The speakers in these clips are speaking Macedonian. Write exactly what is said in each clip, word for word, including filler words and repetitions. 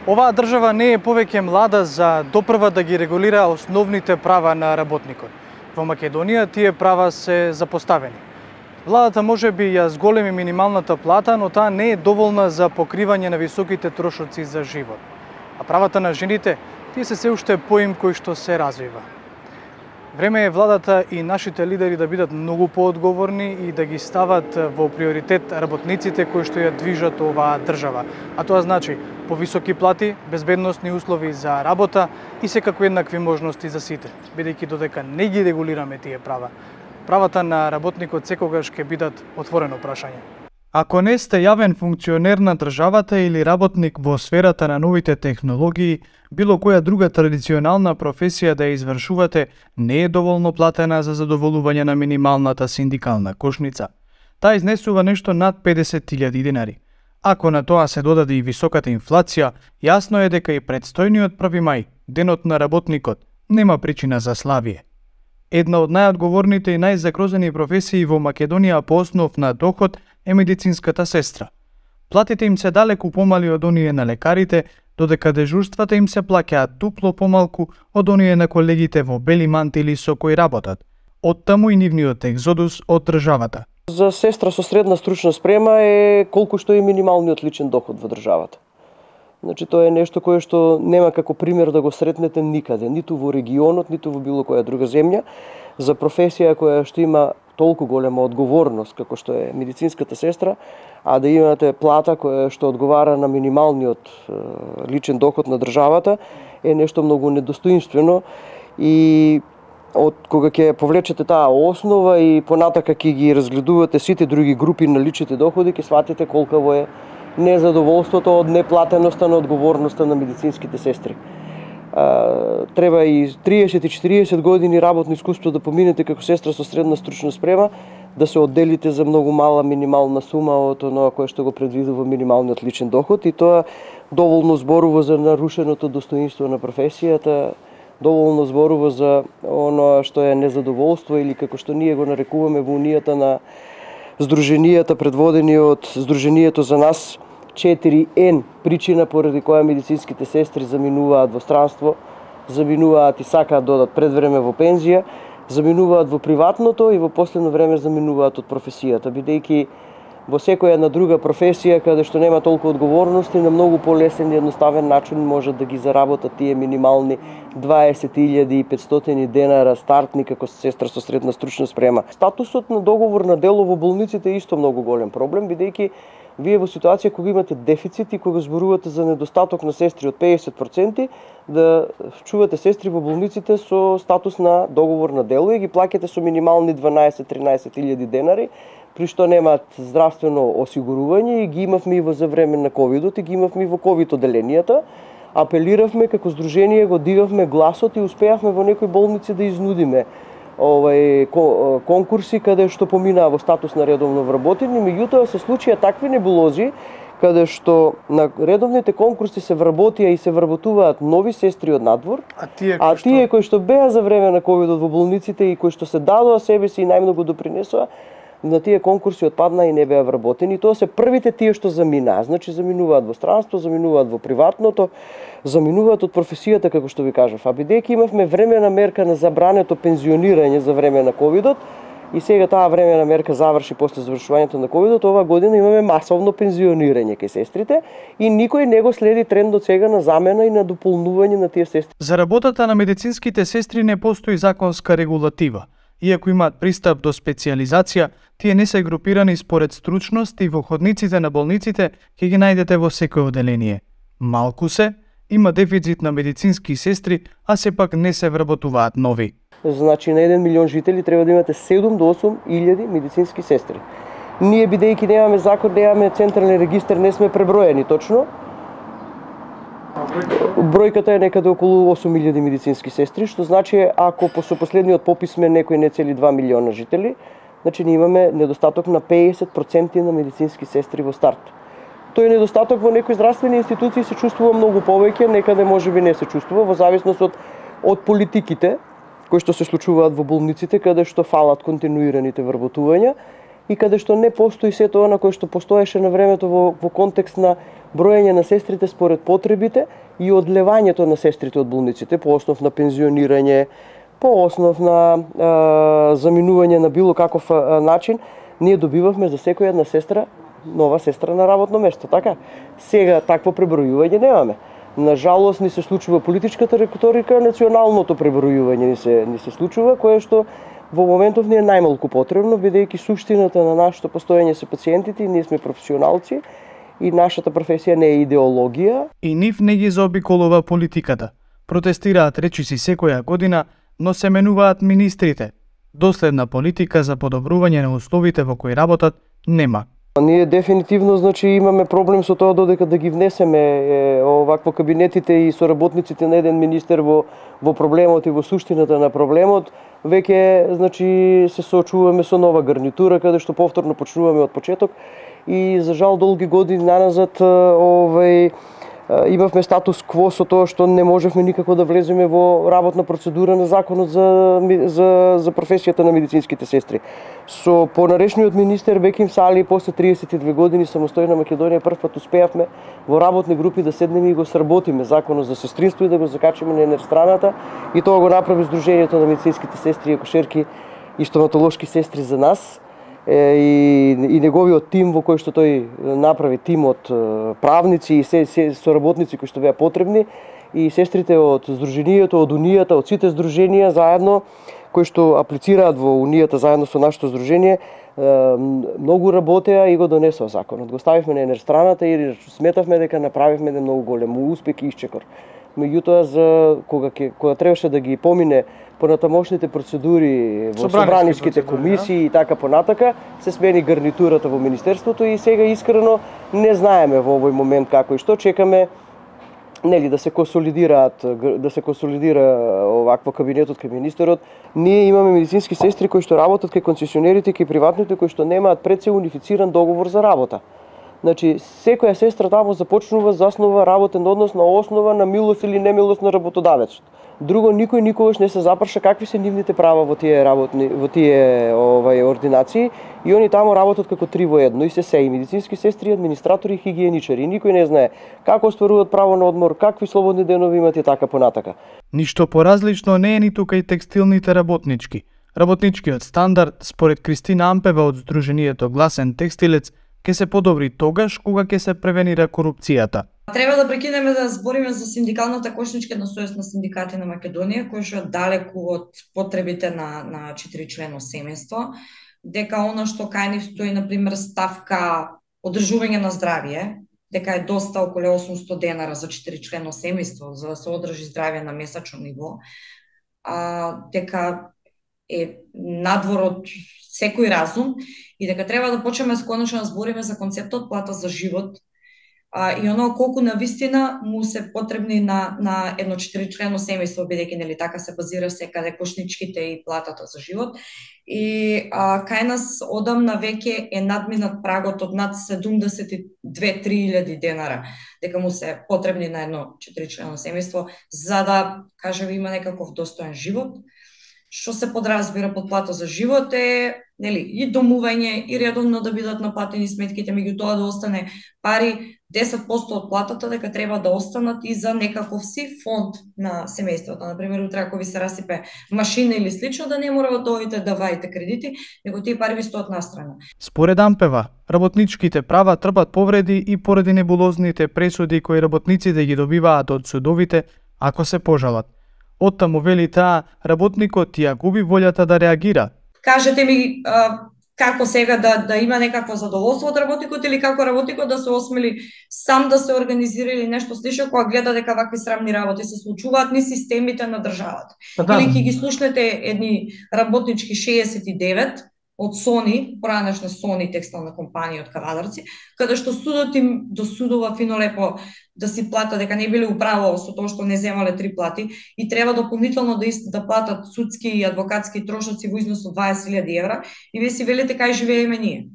Оваа држава не е повеќе млада за допрва да ги регулира основните права на работникот. Во Македонија тие права се запоставени. Владата може би ја зголеми минималната плата, но таа не е доволна за покривање на високите трошоци за живот. А правата на жените, тие се се уште поим кој што се развива. Време е владата и нашите лидери да бидат многу поодговорни и да ги стават во приоритет работниците кои што ја движат оваа држава. А тоа значи повисоки плати, безбедносни услови за работа и секако еднакви можности за сите, бидејќи додека не ги регулираме тие права, правата на работникот секогаш ќе бидат отворено прашање. Ако не сте јавен функционер на државата или работник во сферата на новите технологии, било која друга традиционална професија да ја извршувате не е доволно платена за задоволување на минималната синдикална кошница. Таа изнесува нешто над педесет илјади динари. Ако на тоа се додаде и високата инфлација, јасно е дека и предстојниот први мај, денот на работникот, нема причина за славие. Една од најодговорните и најзагрозени професии во Македонија по основ на доход е медицинската сестра. Платите им се далеку помали од оние на лекарите, додека дежурствата им се плаќаат дупло помалку од оние на колегите во бели мантили со кои работат. Оттаму и нивниот екзодус од државата. За сестра со средна стручна спрема е колку што е минималниот личен доход во државата. Значи тоа е нешто кое што нема како пример да го сретнете никаде, ниту во регионот, ниту во било која друга земја, за професија која што има толку голема одговорност како што е медицинската сестра, а да имате плата која што одговара на минималниот е, личен доход на државата е нешто многу недостоинствено и од кога ќе повлечете таа основа и понатака ќе ги разгледувате сите други групи на личните доходи, ќе сватите колкаво е незадоволството од неплатеноста на одговорноста на медицинските сестри. А, треба и триесет и четириесет години работно искуство да поминете како сестра со средна стручна спрема, да се одделите за многу мала минимална сума од оноа кое што го предвидува минималниот личен доход, и тоа доволно зборува за нарушеното достоинство на професијата, доволно зборува за оноа што е незадоволство или како што ние го нарекуваме во унијата на здруженијата предводени од Здруженијето за нас четири ен, причина поради која медицинските сестри заминуваат во странство, заминуваат и сакаат да одат пред време во пензија, заминуваат во приватното и во последно време заминуваат од професијата, бидејќи во секоја една друга професија каде што нема толку одговорности, на многу полесен и едноставен начин можат да ги заработат тие минимални дваесет илјади и петстотини денара стартни како сестра со средна стручна спрема. Статусот на договор на дело во болниците е исто многу голем проблем, бидејќи вие во ситуација кога имате дефицит и кога зборувате за недостаток на сестри од педесет проценти, да чувате сестри во болниците со статус на договор на дело и ги плаќате со минимални дванаесет-тринаесет илјади денари, при што немаат здравствено осигурување, и ги имавме и во за време на ковидот, и ги имавме и во ковид оделенијата. Апелиравме како здружение, го дигавме гласот и успеавме во некои болници да изнудиме овај конкурси каде што поминаа во статус на редовно вработени, меѓутоа се случија такви небулози каде што на редовните конкурси се вработија и се вработуваат нови сестри од надвор, а тие, а тие кои што беа за време на ковидот во болниците и кои што се дадоа себе си и најмногу допринесоа, на тие конкурси отпадна и не беа вработени. Тоа се првите тие што заминаа. Значи заминуваат во странство, заминуваат во приватното, заминуваат од професијата, како што ви кажав. А бидејќи имавме времена мерка на забрането пензионирање за време на ковидот, и сега таа времена мерка заврши после завршувањето на ковидот, оваа година имаме масовно пензионирање кај сестрите и никој не го следи трендот сега на замена и на дополнување на тие сестри. За работата на медицинските сестри не постои законска регулатива. Иако имаат пристап до специјализација, тие не се групирани според стручност и во ходниците на болниците ќе ги најдете во секој оделение. Малку се, има дефицит на медицински сестри, а сепак не се вработуваат нови. Значи на еден милион жители треба да имате седум до осум илјади медицински сестри. Ние бидејќи немаме закон, немаме централен регистар, не сме преброени точно. Бројката е некаде околу осум илјади медицински сестри, што значи ако со последниот попис сме некои не цели два милиона жители, значи ние имаме недостаток на педесет проценти на медицински сестри во старт. Тој недостаток во некои здравствени институции се чувствува многу повеќе, некаде можеби не се чувствува, во зависност од, од политиките кои што се случуваат во болниците, каде што фалат континуираните вработувања и каде што не постои се тоа на кое што постоеше на времето во, во контекст на броење на сестрите според потребите и одлевањето на сестрите од болниците по основ на пензионирање, по основ на а, заминување на било каков а, начин, ние добивавме за секоја една сестра нова сестра на работно место, така? Сега такво пребројување немаме. На жалост ни се случува политичката риторика, националното пребројување ни се ни се случува, кое што во моментов ни е најмалку потребно, бидејќи суштината на нашето постоење се пациентите и ние сме професионалци и нашата професија не е идеологија. И нив не ги заобиколува политиката. Протестираат речиси секоја година, но се менуваат министрите. Доследна политика за подобрување на условите во кои работат нема. Ние дефинитивно значи имаме проблем со тоа додека да ги внесеме е, овакво кабинетите и соработниците на еден министер во во проблемот и во суштината на проблемот, веќе значи се соочуваме со нова гарнитура каде што повторно почнуваме од почеток и за жал долги години наназад овај имавме статус кво со тоа што не можевме никако да влеземе во работна процедура на законот за за за професијата на медицинските сестри. Со понарешниот министер Беким Сали после триесет и две години самостојна Македонија првпат успеавме во работни групи да седнеме и го сработиме законот за сестринство и да го закачиме на енерстраната и тоа го направи Сдруженијето на медицинските сестри и акушерки и стоматолошки сестри за нас. И, и неговиот тим во кој што тој направи тим од правници и се, се соработници кои што беа потребни и сестрите од Сдруженијето, од Унијата, од сите здруженија заедно кои што аплицираат во Унијата заедно со нашето здружение многу работеа и го донесоа законот. Го ставивме на енерстраната и сметавме дека направивме еден многу голем успех и исчекор. Меѓутоа за кога ќе кога требаше да ги помине понатамошните процедури во собраниските комисии и така понатака, се смени гарнитурата во министерството и сега искрено не знаеме во овој момент како и што чекаме нели да се консолидираат да се консолидира овакво кабинетот кај министерот. Ние имаме медицински сестри кои што работат кај концесионерите, кај приватните кои што немаат пред се унифициран договор за работа. Значи, секоја сестра таму започнува, заснува работен однос на основа на милост или немилост на работодавецот. Друго, никој никогаш не се запрша какви се нивните права во тие работни, во тие овај ординации и они таму работат како три во едно и се се и медицински сестри, администратори и хигиеничари. И никој не знае како остваруваат право на одмор, какви слободни денови имат и така понатака. Ништо поразлично не е ниту кај текстилните работнички. Работничкиот стандард, според Кристина Ампева од Сдруженијето Гласен текстилец, ќе се подобри тогаш кога ќе се превенира корупцијата. Треба да прекинеме да збориме за синдикалната кошничка сојуз на синдикати на Македонија, кој што е далеку од потребите на на четиричлено семејство, дека она што кај нив стои на пример ставка одржување на здравје, дека е доста околу осумстотини денара за четиричлено семејство за да се одржи здравје на месечно ниво, а дека е надвор од секој разум и дека треба да почнеме конечно да збориме за концептот плата за живот а, и оно колку на вистина му се потребни на на едно четиричлено семејство, бидејќи нели така се базира секаде кошничките и платата за живот. И а, кај нас одамна веќе е надминат прагот од над седумдесет и две до три илјади денара, дека му се потребни на едно четиричлено семејство за да кажеме има некаков достоен живот. Што се подразбира под плата за живот е нели и домување и редовно да бидат наплатени сметките, меѓутоа да остане пари десет проценти од платата дека треба да останат и за некаков си фонд на семејството. Например, утре ако ви се расипе машина или слично, да не мора да одите да ваите кредити, него тие пари ви стоат настрана. Според Ампева, работничките права трпат повреди и поради небулозните пресуди кои работниците ги добиваат од судовите ако се пожалат. Оттаму вели таа, работникот ја губи волјата да реагира. Кажете ми а, како сега да да има некакво задоволство од работникот или како работникот да се осмели сам да се организира или нешто слично кога гледа дека вакви срамни работи се случуваат низ системите на државата. Да. Или ќе ги слушнете едни работнички шеесет и девет од Сони, поранешна Сони текстилна компанија од Кавадарци, каде што судот им досудува фино лепо да си плата дека не биле управо со тоа што не земале три плати и треба дополнително да да платат судски и адвокатски трошоци во износ од дваесет илјади евра и вие си велите кај живееме ние.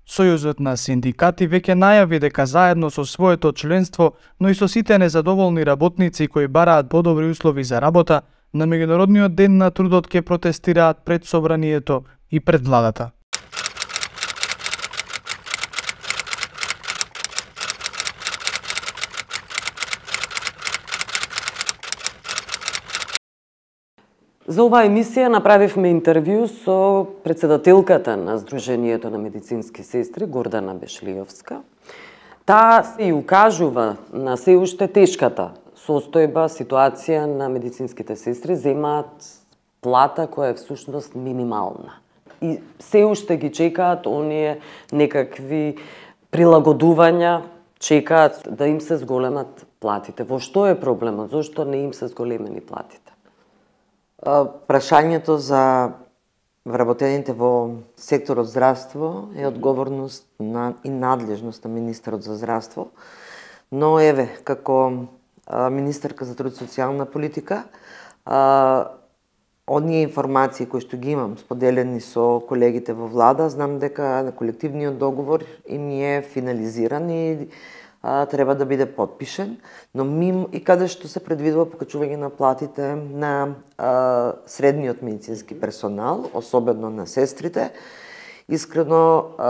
Сојузот на синдикати веќе најави дека заедно со своето членство, но и со сите незадоволни работници кои бараат подобри услови за работа, на Меѓународниот ден на трудот ќе протестираат пред собранието и пред владата. За оваа емисија направивме интервју со председателката на Сдруженијето на медицински сестри, Гордана Бешлиовска. Таа се и укажува на се уште тешката состојба, ситуација на медицинските сестри, земаат плата која е всушност минимална. И се уште ги чекаат оние некакви прилагодувања, чекаат да им се зголемат платите. Во што е проблемот? Зошто не им се зголемени платите? Прашањето за вработените во секторот здравство е одговорност на и надлежност на министерот за здравство. Но еве, како а, министерка за труд и социјална политика, а, оние информации кои што ги имам споделени со колегите во влада, знам дека на колективниот договор им е финализиран и а, треба да биде подпишен, но мим и каде што се предвидува покачување на платите на а, средниот медицински персонал, особено на сестрите, искрено а,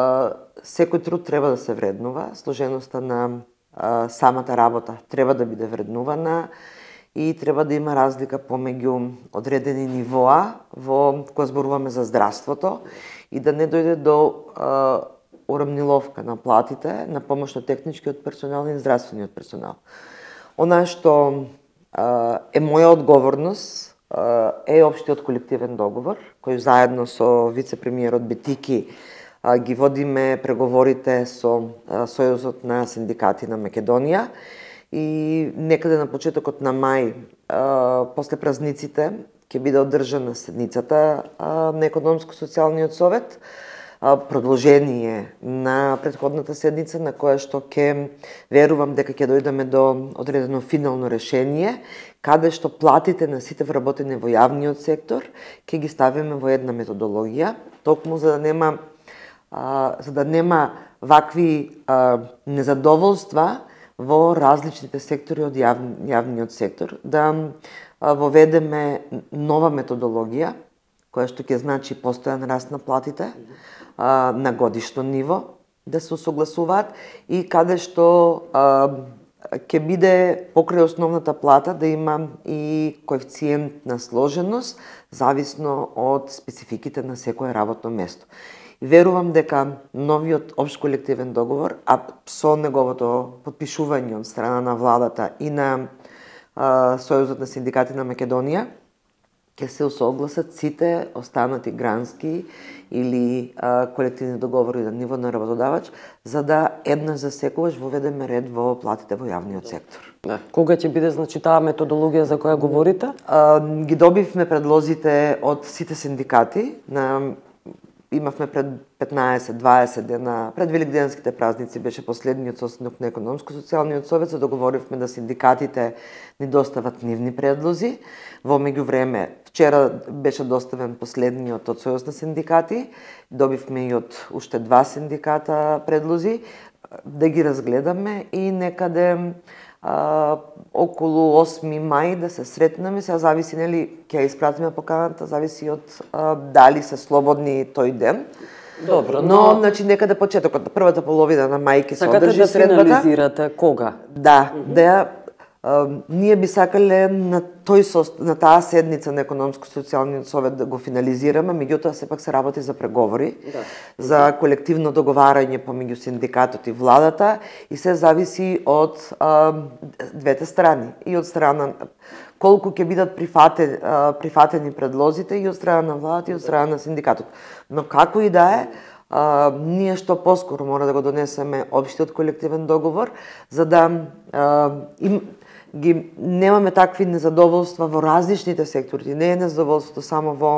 секој труд треба да се вреднува, сложеноста на а, самата работа треба да биде вреднувана и треба да има разлика помеѓу одредени нивоа во кога зборуваме за здравството и да не дојде до а, урамниловка на платите на помош на техничкиот персонал и здравствениот персонал. Она што а, е моја одговорност а, е општиот колективен договор, кој заедно со вице-премиерот Бетики а, ги водиме преговорите со а, Сојузот на синдикати на Македонија. И некаде на почетокот на мај, а, после празниците, ќе биде одржана седницата а, на Економско-социјалниот совет, а, продолжение на претходната седница, на која што ќе верувам дека ќе дојдеме до одредено финално решение, каде што платите на сите вработени во јавниот сектор ќе ги ставиме во една методологија, токму за да нема а, за да нема вакви а, незадоволства во различните сектори од јав, јавниот сектор, да воведеме нова методологија, која што ќе значи постојан раст на платите а, на годишно ниво, да се усогласуваат и каде што а, ќе биде покрај основната плата да има и коефициент на сложеност, зависно од спецификите на секое работно место. Верувам дека новиот општ колективен договор, а со неговото подпишување од страна на владата и на а, Сојузот на синдикати на Македонија, ќе се усогласат сите останати грански или а, колективни договори на ниво на работодавач, за да еднаш за секогаш воведеме ред во платите во јавниот сектор. Да. Кога ќе биде значи таа методологија за која говорите? А, ги добивме предлозите од сите синдикати на Имавме пред петнаесет-дваесет дена, пред великденските празници беше последниот состанок на Економско-социјалниот совет, се договоривме да синдикатите ни достават нивни предлози. Во меѓувреме, вчера беше доставен последниот од Сојуз на синдикати, добивме и од уште два синдиката предлози, да ги разгледаме и некаде а, околу осми мај да се сретнеме, сега зависи нели ќе ја испратиме поканата, зависи од а, дали се слободни тој ден. Добро, но, но значи некаде почетокот на првата половина на мај ќе се одржи да средбата. финализирате кога? Да, mm -hmm. да ја ние би сакале на тој сост... на таа седница на Економско-социјалниот совет да го финализираме, меѓутоа сепак се работи за преговори, да. за колективно договарање помеѓу синдикатот и владата и се зависи од а, двете страни, и од страна колку ќе бидат прифатени, а, прифатени предлозите и од страна на владата и од страна на синдикатот. Но како и да е, а, ние што поскоро мора да го донесеме општиот колективен договор, за да а, им ги немаме такви незадоволства во различните сектори. Не е незадоволството само во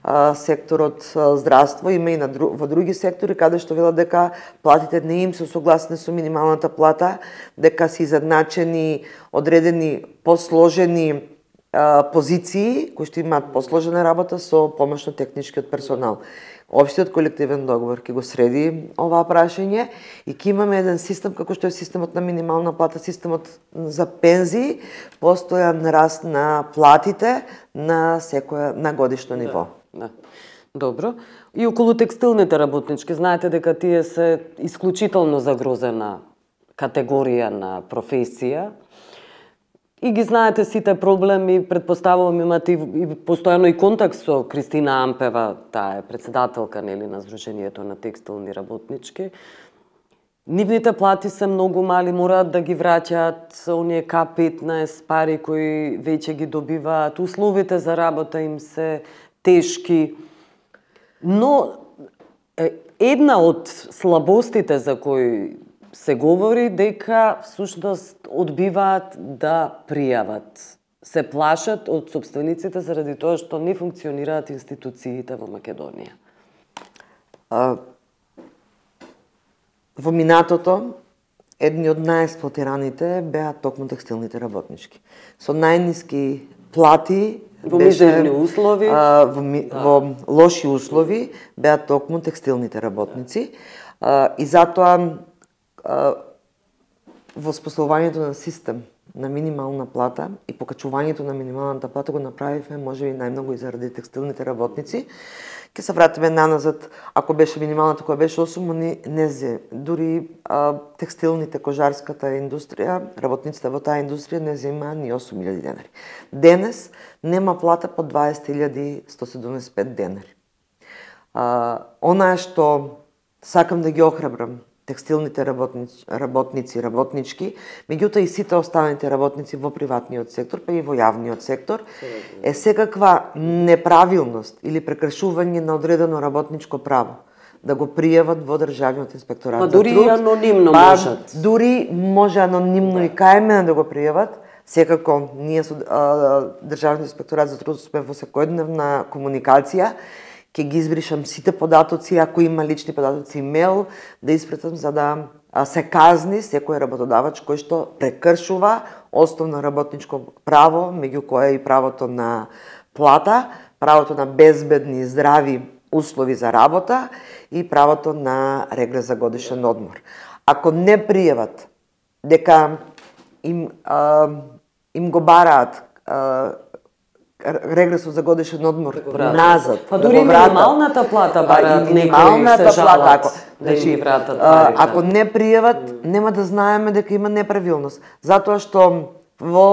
а, секторот а, здравство, има и на дру, во други сектори каде што велат дека платите не им се согласни со минималната плата, дека се изедначени одредени посложени а, позиции кои што имаат посложена работа со помошно техничкиот персонал. Општиот колективен договор ќе го среди оваа прашање и ќе имаме еден систем како што е системот на минимална плата, системот за пензии, постојан раст на платите на секоја на годишно ниво. Да, да. Добро. И околу текстилните работнички, знаете дека тие се исклучително загрозена категорија на професија. И ги знаете сите проблеми, предпоставувам имате и, и постојано и контакт со Кристина Ампева, таа е председателка нели на Сдруженијето на текстилни работнички. Нивните плати се многу мали, мораат да ги враќаат оние К петнаесет пари кои веќе ги добиваат, условите за работа им се тешки. Но една од слабостите за кои се говори дека всушност одбиваат да пријават. Се плашат од сопствениците заради тоа што не функционираат институциите во Македонија. А, во минатото, едни од најексплоатираните беа токму текстилните работнички. Со најниски плати, во мизерни услови, а, во, ми, да. во лоши услови беа токму текстилните работници. А, и затоа во споставувањето на систем на минимална плата и покачувањето на минималната плата го направивме можеби најмногу и заради текстилните работници. Ке се вратиме наназад, ако беше минималната која беше осум, они не зе. Дури а, текстилните, кожарската индустрија, работниците во таа индустрија не земаа ни осум илјади денари. Денес нема плата по дваесет илјади сто седумдесет и пет денари. А, онаа што сакам да ги охрабрам текстилните работници, работници, работнички, меѓутоа и сите останалите работници во приватниот сектор, па и во јавниот сектор, е секаква неправилност или прекршување на одредено работничко право да го пријават во Државниот инспекторат па, за труд. Дури и анонимно па, можат. Дури може анонимно да. И кај мене да го пријават. Секако, ние со а, Државниот инспекторат за труд сме во секојдневна комуникација. Ке ги избришам сите податоци, ако има лични податоци, имейл, да испратам за да се казни секој работодавач кој што прекршува основно работничко право, меѓу кое и правото на плата, правото на безбедни и здрави услови за работа и правото на регрес за годишен одмор. Ако не пријават дека им, а, им го бараат а, регресот за годишен одмор назад, па дури да минималната плата бараат некои се жалат ако, да им ги вратат парите. Ако не пријават, нема да знаеме дека има неправилност. Затоа што во,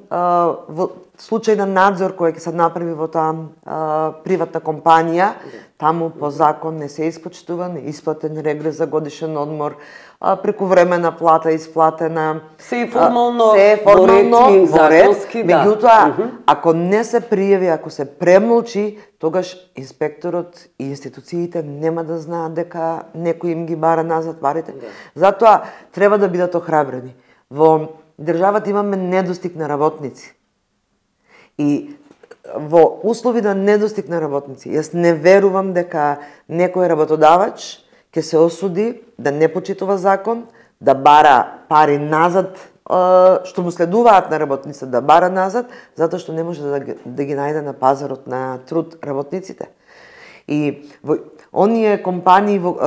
а, во случај на надзор кој ќе се направи во таа а, приватна компанија, таму по закон не се испочтува, не исплатен регрес за годишен одмор, а, прекувремена плата исплатена. Се и формално, се е формално во ред, законски, да. Меѓутоа, uh-huh. ако не се пријави, ако се премолчи, тогаш инспекторот и институциите нема да знаат дека некој им ги бара назад парите. Да. Затоа треба да бидат охрабрени. Во државата имаме недостиг на работници. И во услови на недостиг на работници, јас не верувам дека некој работодавач ќе се осуди да не почитува закон, да бара пари назад, што му следуваат на работниците, да бара назад, затоа што не може да ги, да ги најде на пазарот на труд работниците. И во оние компании, во,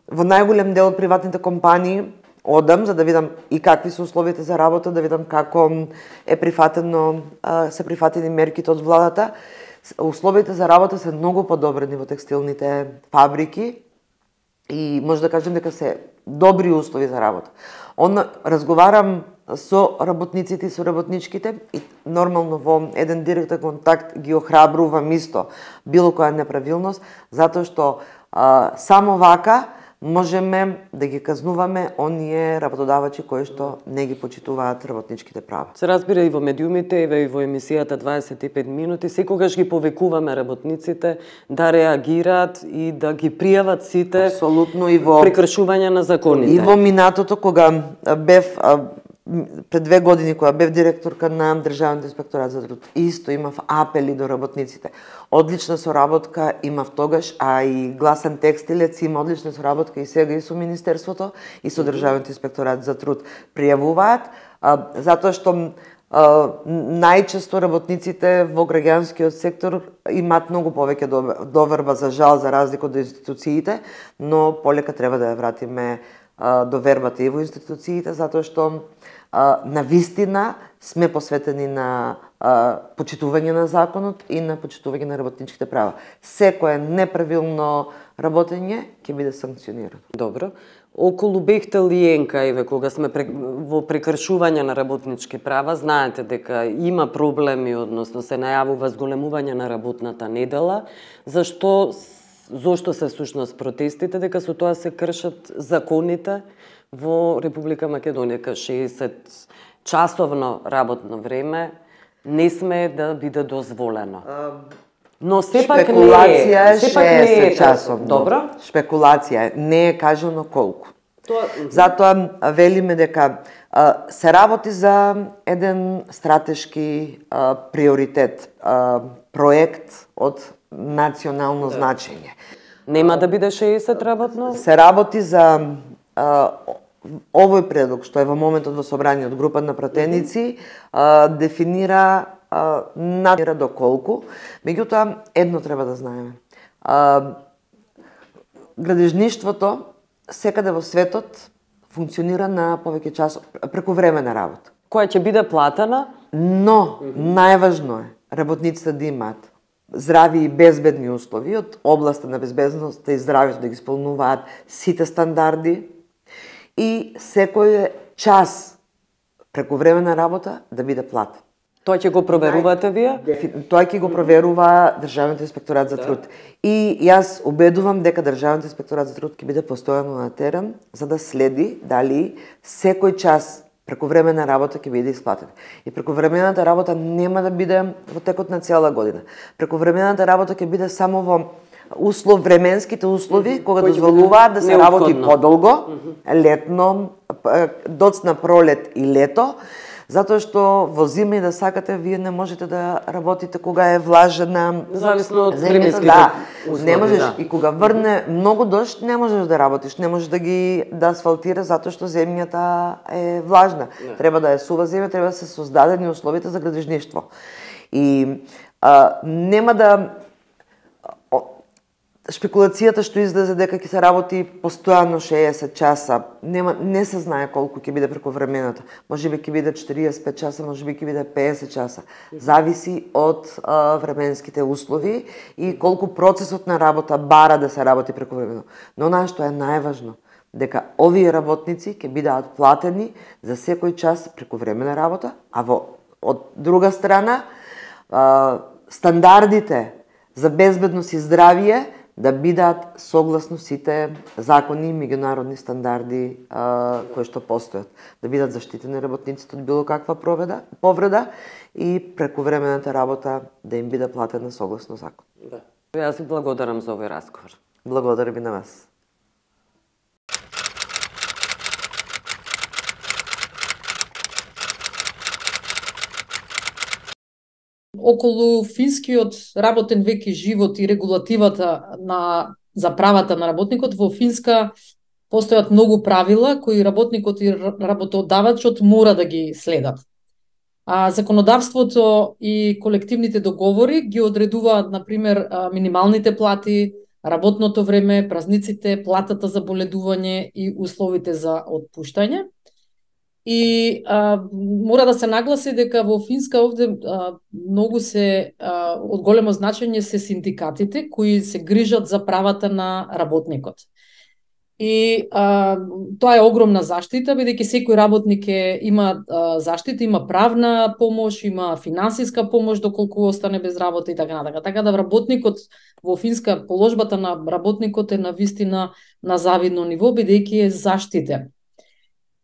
во најголем дел од приватните компании, одам за да видам и какви се условите за работа, да видам како е прифатено, се прифатени мерките од владата. Условите за работа се многу подобрени во текстилните фабрики и може да кажем дека се добри услови за работа. Он разговарам со работниците и со работничките и нормално во еден директен контакт ги охрабрувам исто било која неправилност, затоа што а, само вака можеме да ги казнуваме оние работодавачи кои што не ги почитуваат работничките права. Се разбира и во медиумите, и во емисијата дваесет и пет минути, секогаш ги повикуваме работниците да реагираат и да ги пријават сите Апсолутно и во прекршување на законите. И во минатото кога бев пред две години кога бев директорка на Државниот инспекторат за труд, исто имав апели до работниците. Одлична соработка имав тогаш, а и Гласен текстилец има одлична соработка и сега и со Министерството и со Државниот инспекторат за труд. Пријавуваат, а, затоа што а, најчесто работниците во граѓанскиот сектор имаат многу повеќе доверба, за жал, за разлика од институциите, но полека треба да ја вратиме а, довербата и во институциите, затоа што а, на вистина сме посветени на а, почитување на законот и на почитување на работничките права. Секое неправилно работење ќе биде санкционирано. Добро. Околу Бехтел и Енка, еве, кога сме во прекршување на работнички права, знаете дека има проблеми, односно се најавува зголемување на работната недела. Зашто, зошто се всушност протестите? Дека со тоа се кршат законите во Република Македонија. шеесет часовно работно време не сме да биде дозволено. Но сепак Шпекулација е шеесет е часовно. Добро. Шпекулација е, не е кажано колку. Тоа... Затоа велиме дека а, се работи за еден стратешки а, приоритет, а, проект од национално да. значење. Нема да биде шеесет работно? Се работи за а, овој предлог што е во моментот во собрание од група на пратеници, а, дефинира а, надира до колку. Меѓутоа, едно треба да знаеме. А, градежништвото секаде во светот функционира на повеќе часот преку време на работа. Која ќе биде платена? Но, најважно е работниците да имаат здрави и безбедни услови од областа на безбедноста и здравјето, да ги исполнуваат сите стандарди и секој час преку време на работа да биде платен. Тоа ќе го проверувате вие? Тоа ќе го проверува Државниот инспекторат за труд. И јас убедувам дека Државниот инспекторат за труд ќе биде постојано на терен за да следи дали секој час преку време на работа ќе биде исплатен. И преку времената работа нема да биде во текот на цела година. Преку времената работа ќе биде само во услов, временските услови, mm -hmm. кога дозволуваат да се необходно. работи подолго, mm -hmm. летно, доцна пролет и лето, затоа што во зима и да сакате, вие не можете да работите кога е влажена зависно од земјата, временските да, услови, не можеш да. И кога врне многу дожд, не можеш да работиш, не можеш да ги да асфалтираш затоа што земјата е влажна. Не. Треба да е сува земја, треба да се создадени условите за градежништво. И а, нема да шпекулацијата што излезе дека ќе се работи постојано шеесет часа, нема, не се знае колку ќе биде преку времената. Можеби ќе биде четириесет и пет часа, можеби ќе биде пеесет часа. Зависи од а, временските услови и колку процесот на работа бара да се работи преку времено. Но она што е најважно, дека овие работници ќе бидат платени за секој час преку време на работа, а во од друга страна а, стандардите за безбедност и здравје да бидат согласно сите закони и меѓународни стандарди а, кои што постојат. Да бидат заштитени работниците од било каква проведа, повреда и прекувремената работа да им биде платена согласно закон. Да. Јас ви благодарам за овој разговор. Благодарам и на вас. Околу финскиот работен век и живот и регулативата на за правата на работникот, во Финска постојат многу правила кои работникот и работодавачот мора да ги следат. А законодавството и колективните договори ги одредуваат, например, минималните плати, работното време, празниците, платата за боледување и условите за отпуштање. И а, мора да се нагласи дека во Финска овде а, многу се а, од големо значење се синдикатите кои се грижат за правата на работникот. И а, тоа е огромна заштита, бидејќи секој работник е, има а, заштита, има правна помош, има финансиска помош доколку остане без работа и така натака. Така да работникот во Финска, положбата на работникот е на вистина на завидно ниво, бидејќи е заштитен.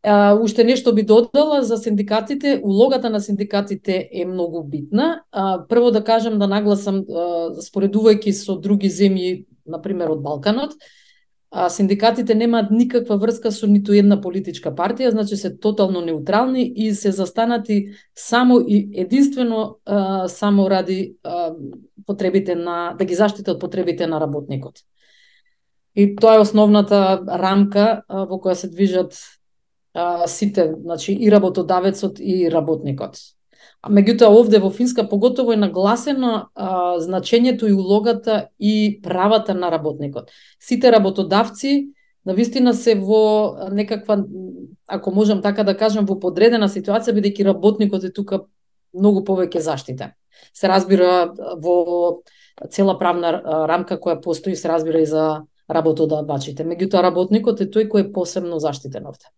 Uh, уште нешто би додала за синдикатите. Улогата на синдикатите е многу битна. Uh, прво да кажам, да нагласам, uh, споредувајќи со други земји, например од Балканот, uh, синдикатите немаат никаква врска со ниту една политичка партија, значи се тотално неутрални и се застанати само и единствено uh, само ради uh, потребите на, да ги заштитат потребите на работникот. И тоа е основната рамка uh, во која се движат сите, значи и работодавецот и работникот. А меѓутоа овде во Финска поготово е нагласено а, значењето и улогата и правата на работникот. Сите работодавци навистина се во некаква, ако можам така да кажам, во подредена ситуација, бидејќи работникот е тука многу повеќе заштитен. Се разбира во цела правна рамка која постои, се разбира и за работодавачите. Меѓутоа работникот е тој кој е посебно заштитен овде.